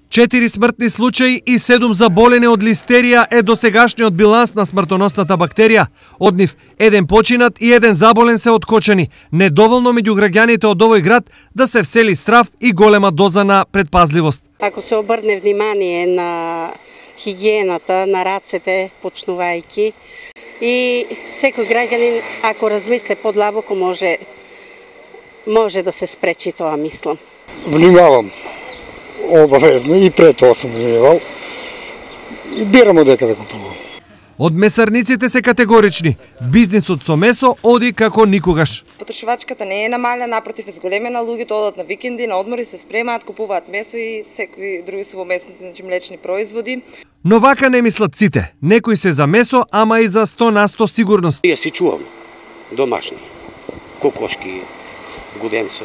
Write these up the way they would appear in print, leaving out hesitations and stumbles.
4 смртни случаи и 7 заболени од листерија е досегашниот биланс на смртоносната бактерија. Од нив, 1 починат и 1 заболен се откочени. Недоволно меѓу граѓаните од овој град да се всели страв и голема доза на предпазливост. Ако се обрне внимание на хигиената, на рацете, почнувајќи, и секој граѓанин, ако размисле подлабоко, може да се спречи тоа, мислам. Внимавам. Обавезно и пред тоа сум внимавал. И бирам одека да купувам. Од месарниците се категорични. Бизнисот со месо оди како никогаш. Потрошувачката не е намалена, напротив, изголемена, луѓето одат на викенди, на одмори, се спремаат, купуваат месо и секои други сувомесници, значи млечни производи. Но вака не мислат сите. Некои се за месо, ама и за 100% сигурност. Ја си чувам домашни, кокошки, гуденца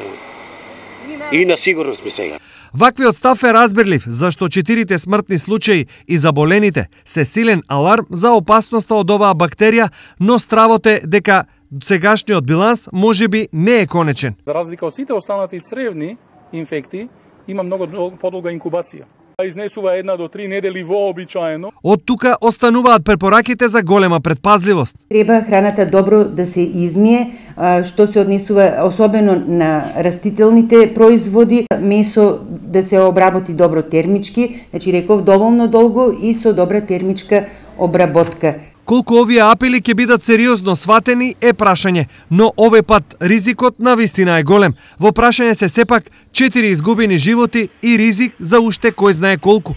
и на сигурност ми сега. Ваквиот став е разбирлив, зашто 4 смртни случаи и заболените се силен аларм за опасноста од оваа бактерија, но стравот е дека сегашниот биланс можеби не е конечен. За разлика од сите останати цревни инфекти, има многу подолга инкубација. Изнесува 1 до 3 недели вообичаено. Од тука остануваат препораките за голема предпазливост. Треба храната добро да се измие, што се однесува особено на растителните производи, месо да се обработи добро термички, значи реков доволно долго и со добра термичка обработка. Колку овие апели ќе бидат сериозно сватени е прашање, но овој пат ризикот на вистина е голем. Во прашање се сепак 4 изгубени животи и ризик за уште кој знае колку.